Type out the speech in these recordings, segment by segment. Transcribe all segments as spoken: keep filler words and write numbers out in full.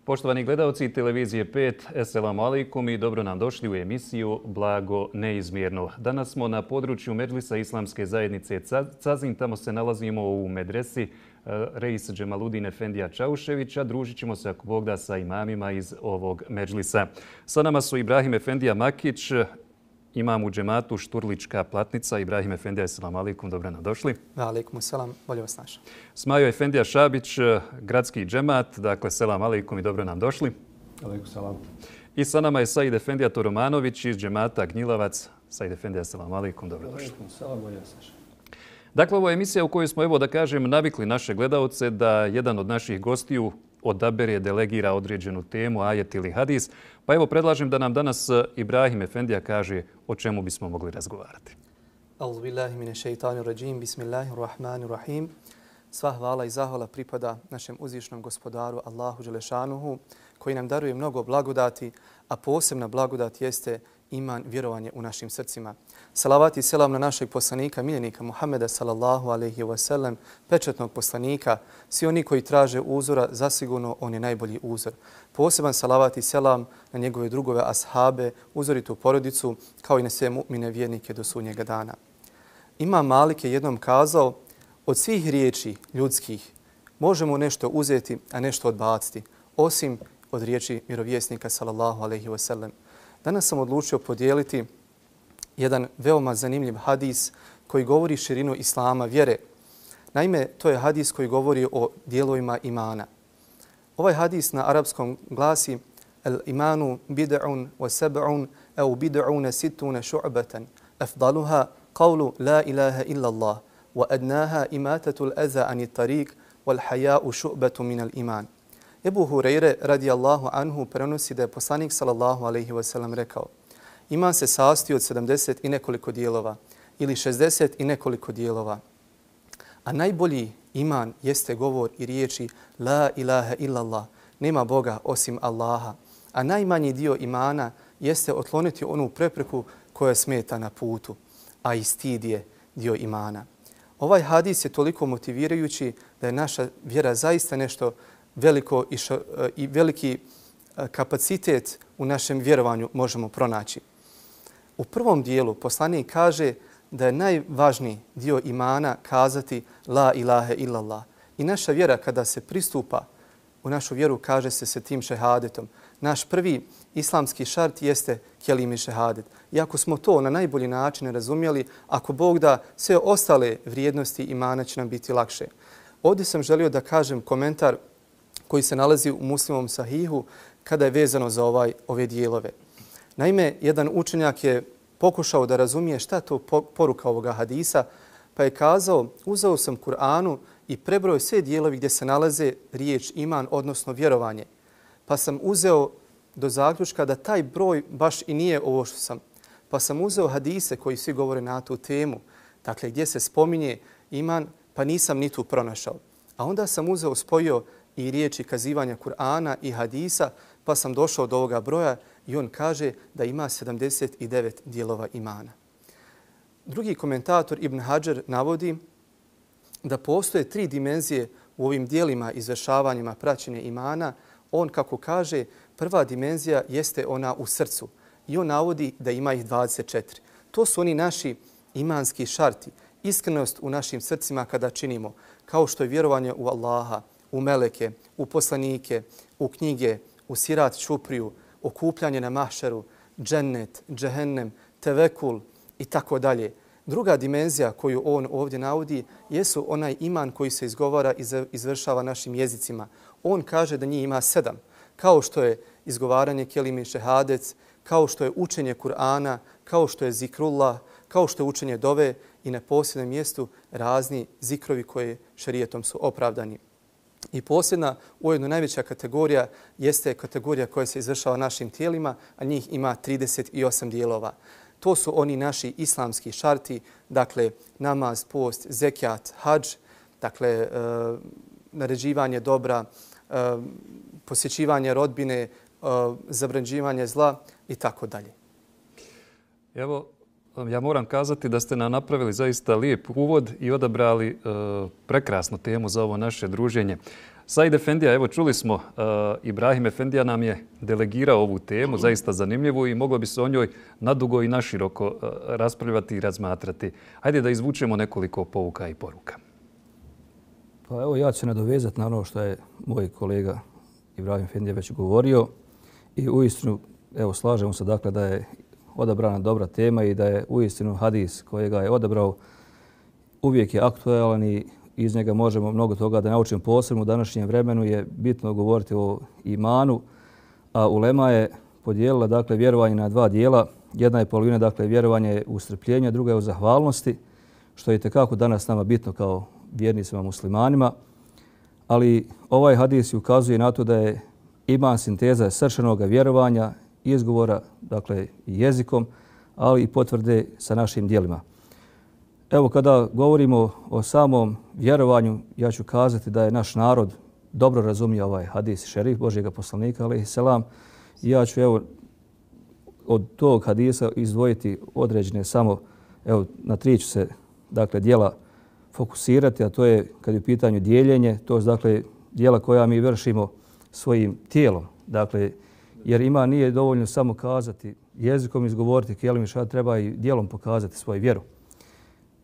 Poštovani gledalci televizije pet, eselamu alaikum i dobro nam došli u emisiju Blago neizmjerno. Danas smo na području Medžlisa Islamske zajednice Cazin. Tamo se nalazimo u medresi Reis Džemaludin Efendija Čauševića. Družit ćemo se, ako Bog da, sa imamima iz ovog Medžlisa. Sa nama su Ibrahim Efendija Makić, imam u džematu Šturlička Platnica. Ibrahim Efendija, eselamu alaikum, dobro nam došli. Alaikum selam, bolje vas našao. Smajo Efendija Šabić, gradski džemat, dakle selam alaikum i dobro nam došli. Alaikum selam. I sa nama je Said Efendija Toromanović iz džemata Gnjilavac. Said Efendija, eselamu alaikum, dobro došli. Alaikum selam, bolje vas našao. Dakle, ovo je emisija u kojoj smo, evo da kažem, navikli naše gledaoce da jedan od naših gostiju odabere, delegira određenu temu, ajet ili hadis. Pa evo predlažem da nam danas Ibrahim Efendija kaže o čemu bismo mogli razgovarati. Auzu billahi mine šeitanir rajim, bismillahirrahmanirrahim. Sva hvala i zahvala pripada našem uzvišnom gospodaru Allahu Đelešanuhu, koji nam daruje mnogo blagodati, a posebna blagodat jeste iman, vjerovanje u našim srcima. Salavat i selam na našeg poslanika, miljenika Muhammeda sallallahu alaihi wa sallam, pečetnog poslanika. Svi oni koji traže uzora, zasigurno on je najbolji uzor. Poseban salavat i selam na njegove drugove ashabe, uzoritu porodicu, kao i na sve mu'mine vjernike do sudnjega dana. Imam Malik je jednom kazao, od svih riječi ljudskih možemo nešto uzeti, a nešto odbaciti, osim od riječi vjerovjesnika sallallahu alaihi wa sallam. Danas sam odlučio podijeliti jedan veoma zanimljiv hadis koji govori širinu islama, vjere. Naime, to je hadis koji govori o dijelovima imana. Ovaj hadis na arapskom glasi el imanu bid'un wa sab'un au bid'un sittuna šu'batan. Afdaluha qawlu la ilaha illa Allah wa adnaha imatatu al-aza ani tariq wal haya'u šu'batu min al-iman. Ebu Hureyre radijallahu anhu prenosi da je poslanik sallallahu alaihi wa sallam rekao: iman se sastoji od sedamdeset i nekoliko dijelova ili šezdeset i nekoliko dijelova. A najbolji iman jeste govor i riječi la ilaha illallah, nema Boga osim Allaha. A najmanji dio imana jeste otkloniti onu prepreku koja smeta na putu, a i stid je dio imana. Ovaj hadis je toliko motivirajući da je naša vjera zaista nešto veliko i, šo, i veliki kapacitet u našem vjerovanju možemo pronaći. U prvom dijelu poslanik kaže da je najvažniji dio imana kazati la ilaha illallah. I naša vjera kada se pristupa u našu vjeru kaže se se tim šehadetom. Naš prvi islamski šart jeste kelimi šehadet. I ako smo to na najbolji način razumjeli, ako Bog da, sve ostale vrijednosti imana će nam biti lakše. Ovdje sam želio da kažem komentar koji se nalazi u Muslimom sahihu kada je vezano za ovaj, ove dijelove. Naime, jedan učenjak je pokušao da razumije šta to poruka ovoga hadisa, pa je kazao, uzeo sam Kur'anu i prebrojao sve dijelovi gdje se nalaze riječ iman, odnosno vjerovanje. Pa sam uzeo do zaključka da taj broj baš i nije ovo što sam. Pa sam uzeo hadise koji svi govore na tu temu, dakle gdje se spominje iman, pa nisam ni tu pronašao. A onda sam uzeo, spojio i riječi kazivanja Kur'ana i hadisa, pa sam došao do ovoga broja i on kaže da ima sedamdeset devet dijelova imana. Drugi komentator Ibn Hadžar navodi da postoje tri dimenzije u ovim dijelima izvršavanjima praćenja imana. On, kako kaže, prva dimenzija jeste ona u srcu i on navodi da ima ih dvadeset četiri. To su oni naši imanski šarti, iskrenost u našim srcima kada činimo, kao što je vjerovanje u Allaha, u meleke, u poslanike, u knjige, u sirat čupriju, okupljanje na mahšeru, džennet, džehennem, tevekul i tako dalje. Druga dimenzija koju on ovdje navodi jesu onaj iman koji se izgovara i izvršava našim jezicima. On kaže da njih ima sedam, kao što je izgovaranje kelime šehadec, kao što je učenje Kur'ana, kao što je zikrullah, kao što je učenje dove i na posljednom mjestu razni zikrovi koje šerijetom su opravdani. I posljedna, ujedno najveća kategorija, jeste kategorija koja se izvršava našim tijelima, a njih ima trideset osam dijelova. To su oni naši islamski šarti, dakle namaz, post, zekijat, hadž, dakle e, naređivanje dobra, e, posjećivanje rodbine, e, zabranđivanje zla i tako dalje. Evo, Ja moram kazati da ste nam napravili zaista lijep uvod i odabrali e, prekrasnu temu za ovo naše druženje. Said Efendija, evo čuli smo, e, Ibrahim Efendija nam je delegirao ovu temu, zaista zanimljivu i moglo bi se o njoj nadugo i naširoko e, raspravljati i razmatrati. Hajde da izvučemo nekoliko pouka i poruka. Pa evo ja ću se nadovezati na ono što je moj kolega Ibrahim Efendija već govorio i uistinu evo slažemo se dakle da je odabrana dobra tema i da je uistinu hadis kojega je odabrao uvijek je aktualan i iz njega možemo mnogo toga da naučimo. Posebno u današnjem vremenu je bitno govoriti o imanu, a ulema je podijelila dakle vjerovanje na dva dijela. Jedna je polovina dakle vjerovanje u strpljenju, druga je u zahvalnosti, što je itekako danas nama bitno kao vjernicima muslimanima. Ali ovaj hadis ukazuje na to da je iman sinteza srčanog vjerovanja, izgovora, dakle jezikom, ali i potvrde sa našim djelima. Evo kada govorimo o samom vjerovanju, ja ću kazati da je naš narod dobro razumio ovaj hadis šerif Božjega poslanika, alejhi selam. I ja ću evo od tog hadisa izdvojiti određene samo, evo na tri ću se dakle djela fokusirati, a to je kad je u pitanju dijeljenje, to je dakle djela koja mi vršimo svojim tijelom. Dakle, jer ima nije dovoljno samo kazati, jezikom izgovoriti kelim i šahad, treba i djelom pokazati svoju vjeru.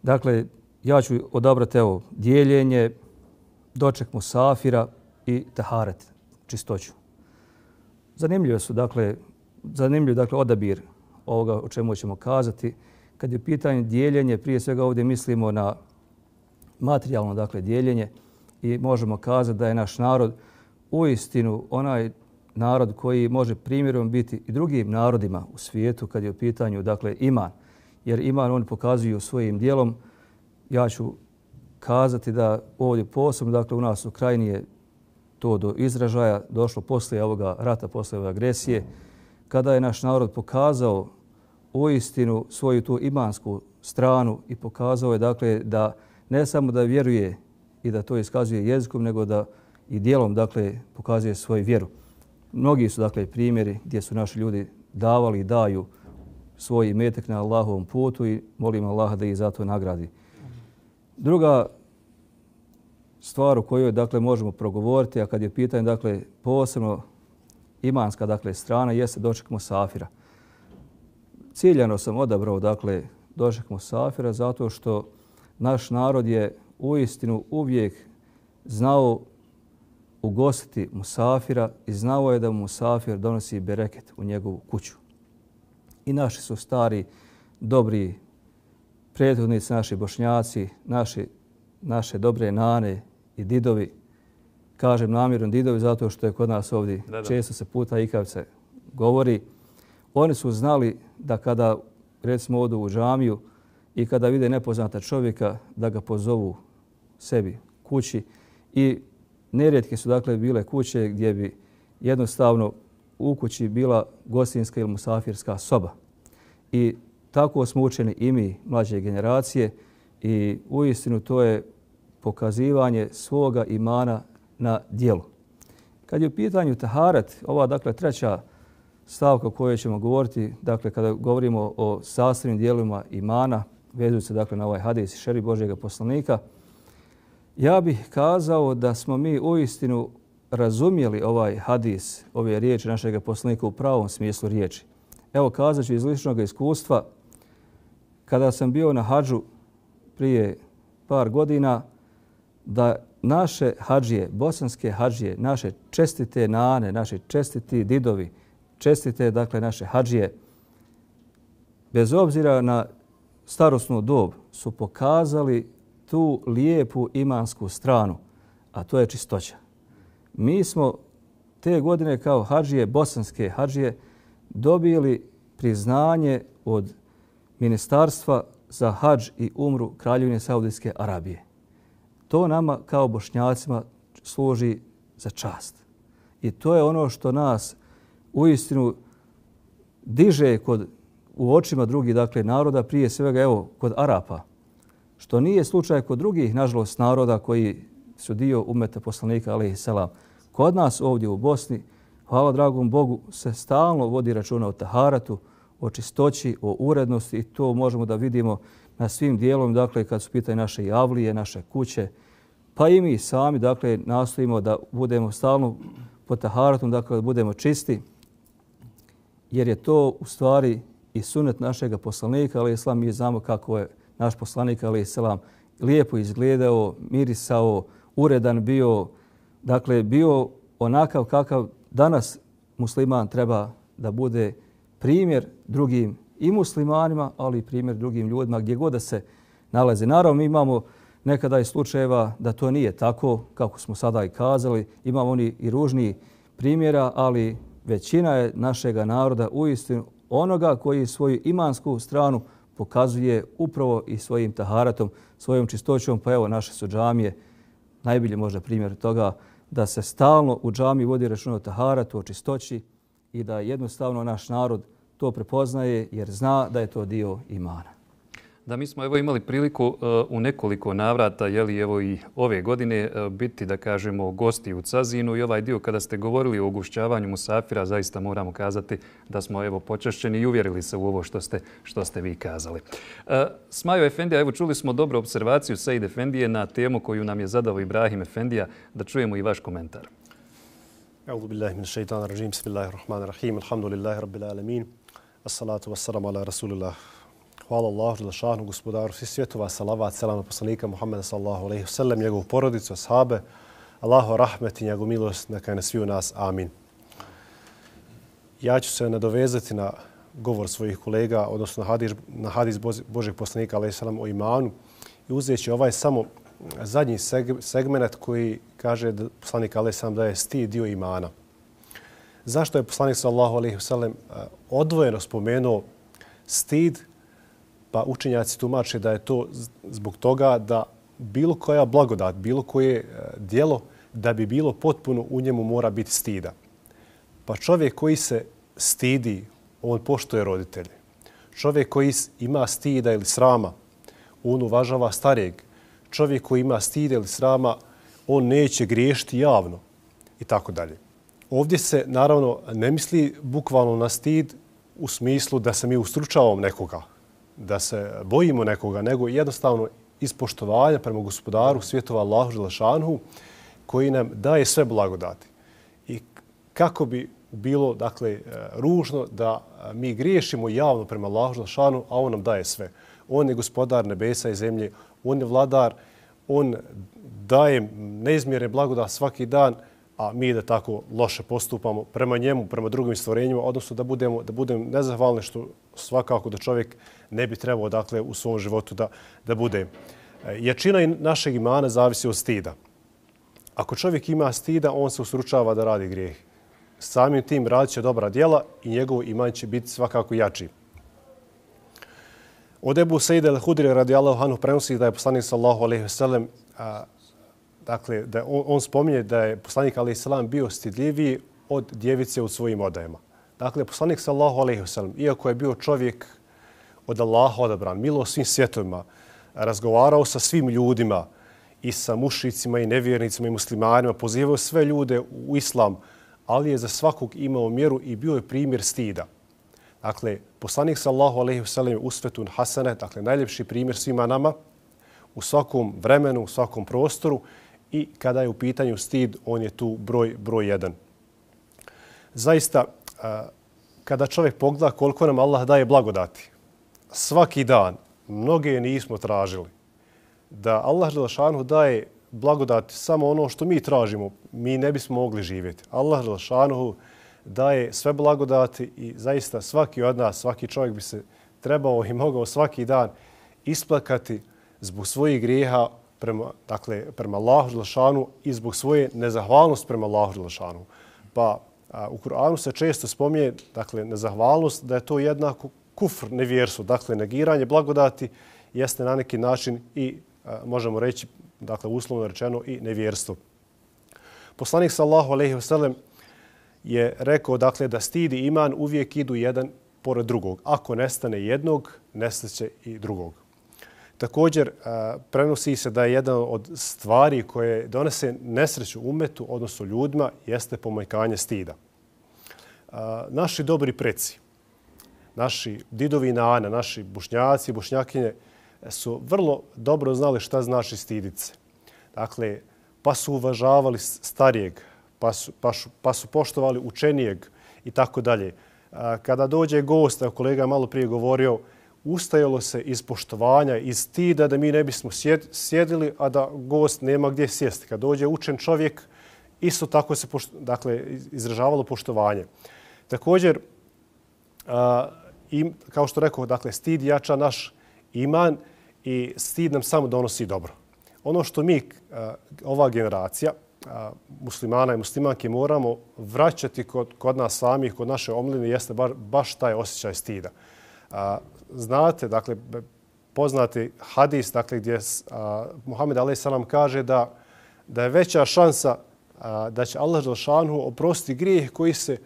Dakle, ja ću odabrati evo dijeljenje, doček musafira i taharet, čistoću. Zanimljivo su, dakle, zanimljiv dakle, odabir ovoga o čemu ćemo kazati. Kad je u pitanju dijeljenje, prije svega ovdje mislimo na materijalno dakle, dijeljenje i možemo kazati da je naš narod uistinu onaj narod koji može primjerom biti i drugim narodima u svijetu kad je u pitanju dakle, iman. Jer iman oni pokazuju svojim dijelom. Ja ću kazati da ovdje posebno dakle, u nas u Krajini je to do izražaja došlo poslije ovoga rata, poslije ove agresije, kada je naš narod pokazao uistinu svoju tu imansku stranu i pokazao je dakle, da ne samo da vjeruje i da to iskazuje jezikom, nego da i dijelom dakle, pokazuje svoju vjeru. Mnogi su dakle primjeri gdje su naši ljudi davali i daju svoj imetak na Allahovom putu i molim Allaha da ih za to nagradi. Druga stvar o kojoj dakle možemo progovoriti, a kad je pitanje dakle posebno imanska dakle strana, jeste doček musafira. Ciljano sam odabrao dakle doček musafira zato što naš narod je uistinu uvijek znao ugostiti musafira i znao je da mu musafir donosi bereket u njegovu kuću. I naši su stari, dobri prethodnici, naši bošnjaci, naši, naše dobre nane i didovi. Kažem namjerno didovi zato što je kod nas ovdje da, da. često se puta ikavice govori. Oni su znali da kada recimo odu u džamiju i kada vide nepoznata čovjeka da ga pozovu sebi kući i nerijetke su dakle bile kuće gdje bi jednostavno u kući bila gostinska ili musafirska soba. I tako smo učeni i mi, mlađe generacije, i uistinu to je pokazivanje svoga imana na djelu. Kad je u pitanju taharet, ova dakle treća stavka o kojoj ćemo govoriti, dakle kada govorimo o sastavnim dijelima imana, vezuju se dakle na ovaj hadis šerif Božjega poslanika, ja bih kazao da smo mi uistinu razumjeli ovaj hadis, ove riječi našeg poslanika u pravom smislu riječi. Evo kazat ću iz ličnog iskustva, kada sam bio na hadžu prije par godina, da naše hadžije, bosanske hadžije, naše čestite nane, naše čestiti didovi, čestite dakle naše hadžije, bez obzira na starosnu dob, su pokazali tu lijepu imansku stranu, a to je čistoća. Mi smo te godine kao hadžije, bosanske hadžije, dobili priznanje od Ministarstva za hadž i umru Kraljevine Saudijske Arabije. To nama kao bošnjacima služi za čast. I to je ono što nas uistinu diže kod, u očima drugih dakle, naroda, prije svega evo, kod Arapa, što nije slučaj kod drugih, nažalost, naroda koji su dio umeta poslanika, alejhi selam. Kod nas ovdje u Bosni, hvala dragom Bogu, se stalno vodi računa o taharatu, o čistoći, o urednosti i to možemo da vidimo na svim dijelom, dakle kad su pitanje naše javlije, naše kuće, pa i mi sami, dakle, nastojimo da budemo stalno pod taharatom, dakle da budemo čisti, jer je to u stvari i sunet našega poslanika, alejhi selam. Mi znamo kako je naš poslanik, alejhi selam, lijepo izgledao, mirisao, uredan bio, dakle bio onakav kakav danas musliman treba da bude primjer drugim i muslimanima, ali i primjer drugim ljudima gdje god da se nalaze. Naravno, mi imamo nekada i slučajeva da to nije tako, kako smo sada i kazali. Imamo oni i ružniji primjera, ali većina je našega naroda uistinu onoga koji svoju imansku stranu pokazuje upravo i svojim taharatom, svojom čistoćom. Pa evo, naše su džamije najbolji možda primjer toga da se stalno u džamiji vodi računa o taharatu, o čistoći i da jednostavno naš narod to prepoznaje jer zna da je to dio imana. Da, mi smo evo imali priliku uh, u nekoliko navrata, jeli evo i ove godine, uh, biti, da kažemo, gosti u Cazinu i ovaj dio kada ste govorili o ugošćavanju musafira, zaista moramo kazati da smo evo počašćeni i uvjerili se u ovo što ste, što ste vi kazali. Uh, Smajo Efendija, evo čuli smo dobru observaciju Sejid Efendije na temu koju nam je zadao Ibrahim Efendija, da čujemo i vaš komentar. A'udhu billahi min shaitan rajim, bismillahirrahmanirrahim, alhamdulillahi rabbil alamin, assalatu wassalamu ala rasulillah. Hvala Allahu dželešanu, gospodaru svih svjetova, salavat, selam na poslanika Muhammeda sallallahu alejhi ve sellem, njegovu porodicu, ashabe, Allahu rahmet i njegovu milost neka je na svi u nas. Amin. Ja ću se nadovezati na govor svojih kolega, odnosno na hadis, na hadis Božeg poslanika alejhi selam o imanu i uzeći ovaj samo zadnji segment koji kaže da poslanik alejhi selam da je stid dio imana. Zašto je poslanik sallallahu alejhi ve sellem odvojeno spomenuo stid? Pa učenjaci tumače da je to zbog toga da bilo koja blagodat, bilo koje djelo, da bi bilo potpuno u njemu mora biti stida. Pa čovjek koji se stidi, on poštuje roditelje. Čovjek koji ima stida ili srama, on uvažava starijeg. Čovjek koji ima stida ili srama, on neće griješiti javno i tako dalje. Ovdje se naravno ne misli bukvalno na stid u smislu da se mi ustručavamo nekoga, da se bojimo nekoga, nego jednostavno iz poštovanja prema gospodaru svjetova Allahu dželešanu koji nam daje sve blagodati. I kako bi bilo, dakle, ružno da mi griješimo javno prema Allahu dželešanu, a on nam daje sve. On je gospodar nebesa i zemlje, on je vladar, on daje neizmjerne blagodati svaki dan, a mi da tako loše postupamo prema njemu, prema drugim stvorenjima, odnosno da budemo, da budemo nezahvalni, što svakako da čovjek ne bi trebao, dakle, u svom životu da, da bude. Jačina našeg imana zavisi od stida. Ako čovjek ima stida, on se usručava da radi grijeh. Samim tim radit će dobra djela i njegov iman će biti svakako jači. Od Ebu Sejda el-Hudri radijallahu anhu prenosi da je poslanik sallallahu alejhi ve sellem, dakle, da on, on spominje da je poslanik alejhi selam bio stidljiviji od djevice u svojim odajama. Dakle, poslanik sallallahu alejhi ve sellem, iako je bio čovjek od Allaha odabran, milo svim svjetovima, razgovarao sa svim ljudima, i sa mušicima i nevjernicima i muslimanima, pozivao sve ljude u islam, ali je za svakog imao mjeru i bio je primjer stida. Dakle, poslanik sallallahu alejhi ve sellem je usvetun hasane, dakle najljepši primjer svima nama u svakom vremenu, u svakom prostoru, i kada je u pitanju stid, on je tu broj broj jedan. Zaista, kada čovjek pogleda koliko nam Allah daje blagodati, svaki dan mnoge nismo tražili. Da Allah dželešanu daje blagodati samo ono što mi tražimo, mi ne bismo mogli živjeti. Allah dželešanu daje sve blagodati i zaista svaki od nas, svaki čovjek bi se trebao i mogao svaki dan isplakati zbog svojih grijeha prema, dakle, prema Allahu dželešanu i zbog svoje nezahvalnosti prema Allahu dželešanu. Pa a, u Kur'anu se često spominje, dakle, nezahvalnost, da je to jednako kufr, nevjerstvo. Dakle, negiranje blagodati jeste na neki način i a, možemo reći, dakle, uslovno rečeno, i nevjerstvo. Poslanik sallallahu alejhi ve sellem je rekao, dakle, da stid i iman uvijek idu jedan pored drugog. Ako nestane jednog, nestaće i drugog. Također, prenosi se da je jedan od stvari koje donese nesreću umetu, odnosno ljudima, jeste pomanjkanje stida. Naši dobri preci, naši didovi nana, naši bušnjaci i bušnjakinje su vrlo dobro znali šta znači stiditi se. Dakle, pa su uvažavali starijeg, pa su, pa su, pa su poštovali učenijeg i tako dalje. Kada dođe gost, kolega je malo prije govorio, ustajalo se iz poštovanja, iz stida da mi ne bismo sjedili, a da gost nema gdje sjesti. Kad dođe učen čovjek, isto tako se pošto, dakle, izražavalo poštovanje. Također, a, im, kao što rekao, dakle, stid jača naš iman i stid nam samo donosi dobro. Ono što mi, a, ova generacija a, muslimana i muslimanke, moramo vraćati kod, kod nas samih, kod naše omladine, jeste bar, baš taj osjećaj stida. A, znate, dakle, poznati hadis, dakle, gdje a, Muhammed alejhi selam kaže da, da je veća šansa a, da će Allah dželešanu oprostiti grijeh koji se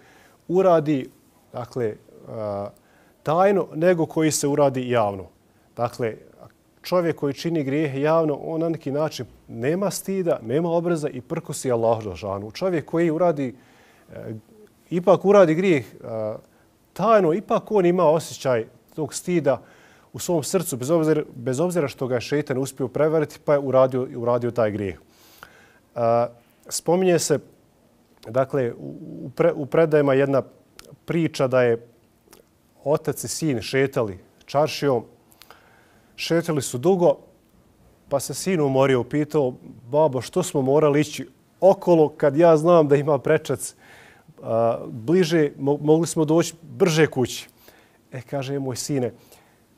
uradi, dakle, a, tajno, nego koji se uradi javno. Dakle, čovjek koji čini grijehe javno, on na neki način nema stida, nema obraza i prkosi Allahu dželešanu. Čovjek koji uradi, e, ipak uradi grijeh e, tajno, ipak on ima osjećaj tog stida u svom srcu, bez obzira, bez obzira što ga je šejtan uspio prevariti, pa je uradio, uradio taj grijeh. E, spominje se, dakle, u, pre, u predajama jedna priča da je otac i sin šetali čaršijom. Šetali su dugo, pa se sin umorio, upitao, babo, što smo morali ići okolo kad ja znam da ima prečac a, bliže, mo mogli smo doći brže kući. E, kaže, moj sine,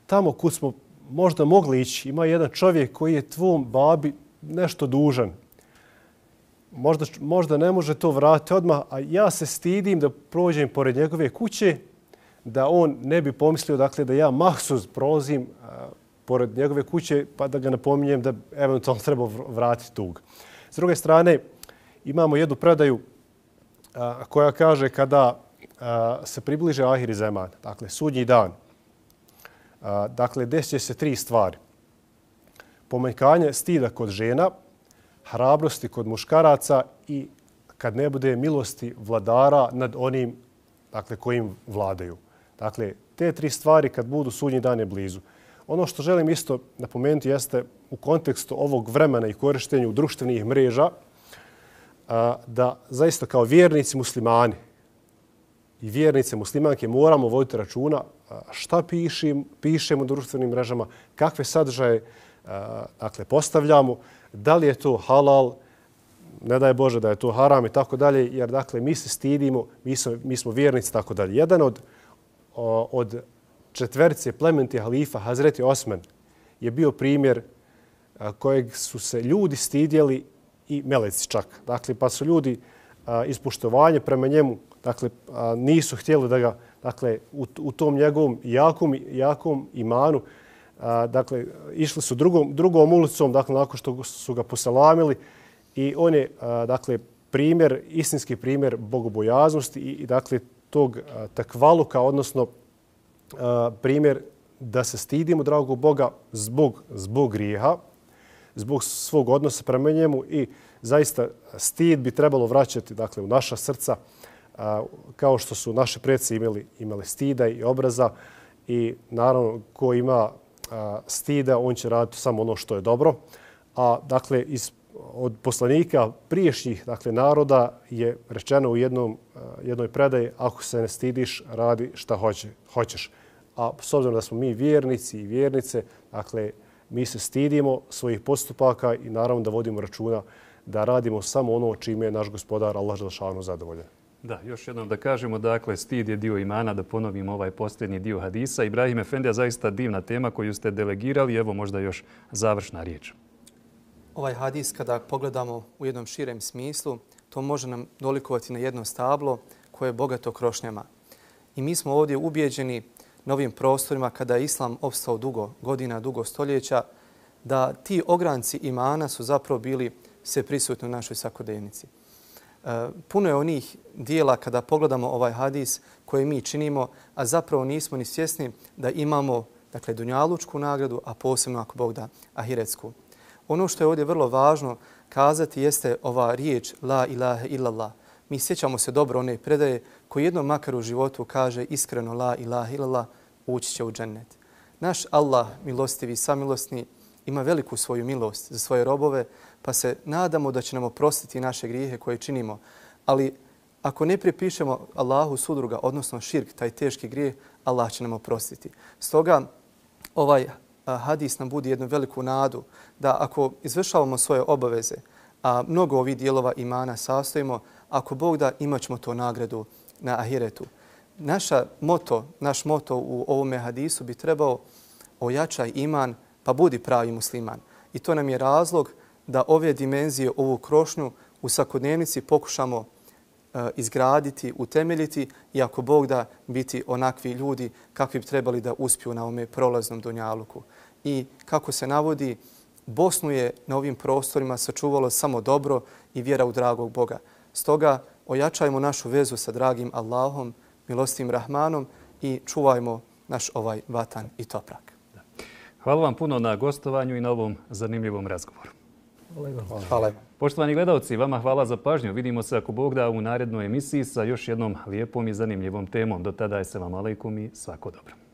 tamo kud smo možda mogli ići, ima jedan čovjek koji je tvom babi nešto dužan. Možda, možda ne može to vratiti odmah, a ja se stidim da prođem pored njegove kuće, da on ne bi pomislio, dakle, da ja mahsus prolazim a, pored njegove kuće, pa da ga napominjem da eventualno treba vratiti dug. S druge strane, imamo jednu predaju a, koja kaže kada a, se približe ahiri zeman, dakle, sudnji dan, a, dakle, desit će se tri stvari. Pomanjkanje stida kod žena, hrabrosti kod muškaraca i kad ne bude milosti vladara nad onim, dakle, kojim vladaju. Dakle, te tri stvari kad budu, sudnji dan je blizu. Ono što želim isto napomenuti jeste u kontekstu ovog vremena i korištenju društvenih mreža da zaista kao vjernici muslimani i vjernice muslimanke moramo voditi računa šta pišim, pišemo u društvenim mrežama, kakve sadržaje dakle, postavljamo, da li je to halal, ne daj Bože da je to haram i tako dalje, jer dakle mi se stidimo, mi smo, mi smo vjernici i tako dalje. Jedan od, od četverice plemenitih halifa, Hazreti Osman, je bio primjer kojeg su se ljudi stidjeli i meleci čak. Dakle, pa su ljudi iz poštovanja prema njemu, dakle, nisu htjeli da ga, dakle, u, u tom njegovom jakom, jakom imanu, dakle, išli su drugom, drugom ulicom, dakle, nakon što su ga poselamili i on je, dakle, primjer, istinski primjer bogobojaznosti i, i dakle, tog takvaluka, odnosno primjer da se stidimo dragog Boga zbog, zbog grijeha, zbog svog odnosa prema njemu i zaista stid bi trebalo vraćati, dakle, u naša srca kao što su naši preci imali, imali stida i obraza i naravno ko ima stida, on će raditi samo ono što je dobro. A dakle, iz, od poslanika priješnjih, dakle, naroda je rečeno u jednom, jednoj predaji, ako se ne stidiš, radi šta hoće, hoćeš. A s obzirom da smo mi vjernici i vjernice, dakle, mi se stidimo svojih postupaka i naravno da vodimo računa da radimo samo ono čime je naš gospodar Allah dželešanu zadovoljan. Da, još jednom da kažemo, dakle, stid je dio imana, da ponovimo ovaj posljednji dio hadisa. Ibrahim Efendija, zaista divna tema koju ste delegirali. Evo možda još završna riječ. Ovaj hadis, kada pogledamo u jednom širem smislu, to može nam dolikovati na jedno stablo koje je bogato krošnjama. I mi smo ovdje ubijeđeni novim prostorima, kada je Islam opstao dugo godina, dugo stoljeća, da ti ogranci imana su zapravo bili sve prisutni u našoj svakodnevnici. Puno je onih dijela kada pogledamo ovaj hadis koje mi činimo, a zapravo nismo ni svjesni da imamo, dakle, dunjalučku nagradu, a posebno, ako Bog da, ahiretsku. Ono što je ovdje vrlo važno kazati jeste ova riječ la ilaha illallah. Mi sjećamo se dobro one predaje koji jednom makar u životu kaže iskreno la ilaha illallah, ući će u džennet. Naš Allah, milostivi i samilosni, ima veliku svoju milost za svoje robove, pa se nadamo da će nam oprostiti naše grijehe koje činimo. Ali ako ne pripišemo Allahu sudruga, odnosno širk, taj teški grijeh, Allah će nam oprostiti. Stoga ovaj hadis nam budi jednu veliku nadu da ako izvršavamo svoje obaveze, a mnogo ovih dijelova imana sastojimo, ako Bog da, imat ćemo to nagradu na ahiretu. Naša moto, naš moto u ovome hadisu bi trebao ojačaj iman, pa budi pravi musliman. I to nam je razlog da ove dimenzije, ovu krošnju u svakodnevnici pokušamo uh, izgraditi, utemeljiti i ako Bog da biti onakvi ljudi kakvi bi trebali da uspiju na ovome prolaznom dunjaluku. I kako se navodi, Bosnu je na ovim prostorima sačuvalo samo dobro i vjera u dragog Boga. Stoga ojačajmo našu vezu sa dragim Allahom, milostivim Rahmanom i čuvajmo naš ovaj vatan i toprak. Hvala vam puno na gostovanju i na ovom zanimljivom razgovoru. Hvala. Hvala. Poštovani gledalci, vama hvala za pažnju. Vidimo se ako Bog da u narednoj emisiji sa još jednom lijepom i zanimljivom temom. Do tada je selam alejkum i svako dobro.